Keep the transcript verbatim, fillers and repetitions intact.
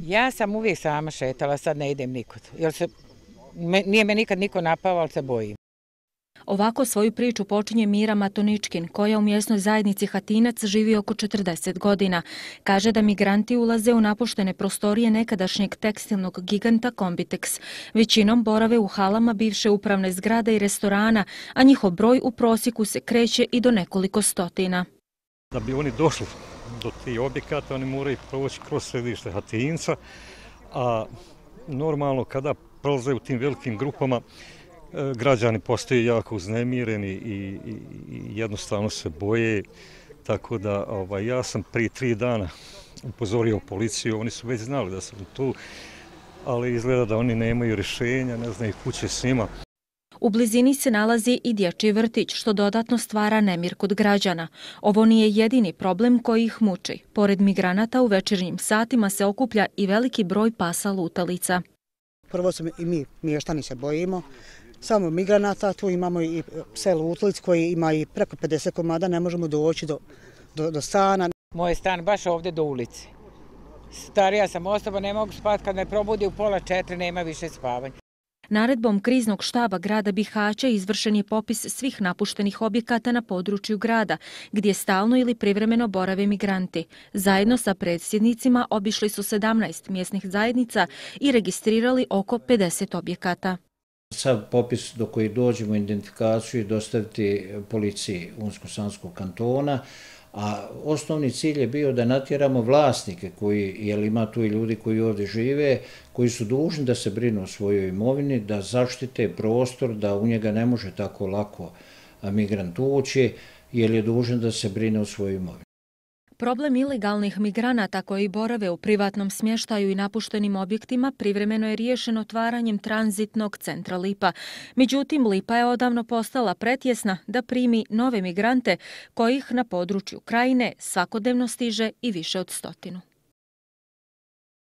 Ja sam uvijek sama šetala, sad ne idem nikud. Jer se, me, nije me nikad niko napao, ali se bojim. Ovako svoju priču počinje Mira Matoničkin, koja u mjesnoj zajednici Hatinac živi oko četrdeset godina. Kaže da migranti ulaze u napuštene prostorije nekadašnjeg tekstilnog giganta Kombitex. Većinom borave u halama bivše upravne zgrade i restorana, a njihov broj u prosjeku se kreće i do nekoliko stotina. Da bi oni došli do tih objekata, oni moraju proći kroz središte Hatinca, a normalno kada prolaze u tim velikim grupama, građani postaju jako uznemireni i, i, i jednostavno se boje, tako da ovaj, ja sam prije tri dana upozorio policiju, oni su već znali da sam tu, ali izgleda da oni nemaju rješenja, ne znaju kuće s njima. U blizini se nalazi i dječji vrtić, što dodatno stvara nemir kod građana. Ovo nije jedini problem koji ih muči. Pored migranata u večernjim satima se okuplja i veliki broj pasa lutalica. Prvo se i mi mještani se bojimo. Samo migranata, tu imamo i pse lutalic koji ima i preko pedeset komada, ne možemo doći do, do, do stana. Moj je stan baš ovdje do ulici. Starija sam osoba, ne mogu spati, kad me probudi u pola četiri, nema više spavanja. Naredbom kriznog štaba grada Bihaća izvršen je popis svih napuštenih objekata na području grada, gdje stalno ili privremeno borave migranti. Zajedno sa predsjednicima obišli su sedamnaest mjesnih zajednica i registrirali oko pedeset objekata. Sav popis do koji dođemo identifikaciju i dostaviti policiji Unsko-Sanskog kantona, a osnovni cilj je bio da natjeramo vlasnike koji, jer ima tu i ljudi koji ovdje žive, koji su dužni da se brinu o svojoj imovini, da zaštite prostor, da u njega ne može tako lako migrant ući, jer je dužan da se brine o svojoj imovini. Problem ilegalnih migranata koji borave u privatnom smještaju i napuštenim objektima privremeno je riješen otvaranjem tranzitnog centra Lipa. Međutim, Lipa je odavno postala pretjesna da primi nove migrante kojih na području Krajine svakodnevno stiže i više od stotinu.